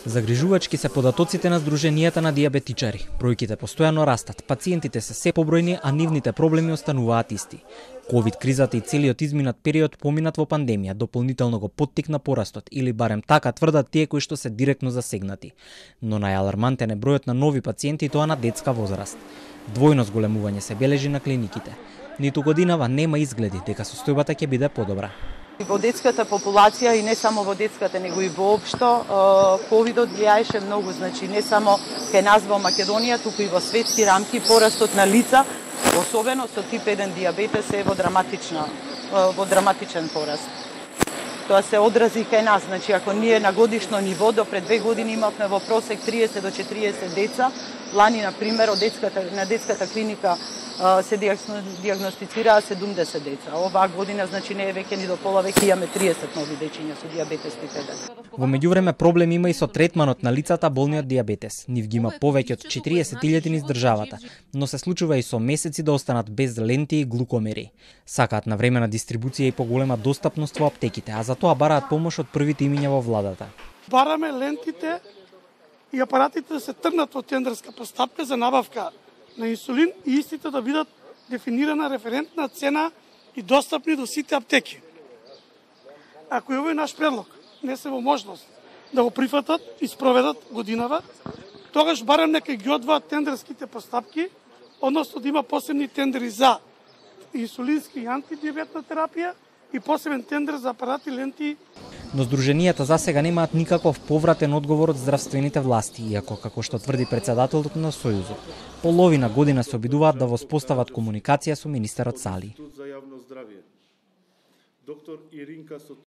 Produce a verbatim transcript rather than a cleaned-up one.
Загрижувачки се податоците на Сдруженијата на дијабетичари. Бројките постојано растат, пациентите се се побројни, а нивните проблеми остануваат исти. ковид кризата и целиот изминат период поминат во пандемија дополнително го поттикна порастот, или барем така тврдат тие кои што се директно засегнати. Но најалармантен е бројот на нови пациенти, тоа на детска возраст. Двојно зголемување се бележи на клиниките. Ниту годинава нема изгледи дека состојбата ќе биде подобра. Во детската популација и не само во детската, него и воопшто, ковидот влијаеше многу, значи не само кај нас во Македонија, туку и во светски рамки порастот на лица, особено со тип еден дијабетес е во драматична во драматичен пораст. Тоа се одрази кај нас, значи ако ние на годишно ниво до пред две години имавме во просек триесет до четириесет деца, лани на пример од детската на детската клиника се дијагностицираа седумдесет деца. Оваа година значи не е веќе ни до пола, веќе имаме триесет нови дечиња со дијабетес тип еден. Во меѓувреме проблем има и со третманот на лицата болни од дијабетес. Нив ги има повеќе од четириесет илјади низ државата, но се случува и со месеци да останат без ленти и глукомери. Сакаат навремена дистрибуција и поголема достапност во аптеките, а за тоа бараат помош од првите имиња во владата. Бараме лентите и апаратите да се тргнат во тендерска постапка за набавка на инсулин и истите да бидат дефинирана референтна цена и достапни до сите аптеки. Ако овој наш предлог не се во можност да го прифатат и спроведат годинава, тогаш барем нека ги одвоат тендерските постапки, односно да има посебни тендери за инсулински и антидиабетна терапија и посебен тендер за апарати, ленти. Но Сдруженијата засега немаат никаков повратен одговор од здравствените власти, иако, како што тврди председателот на Сојузот, половина година се обидуваат да воспостават комуникација со министерот Сали.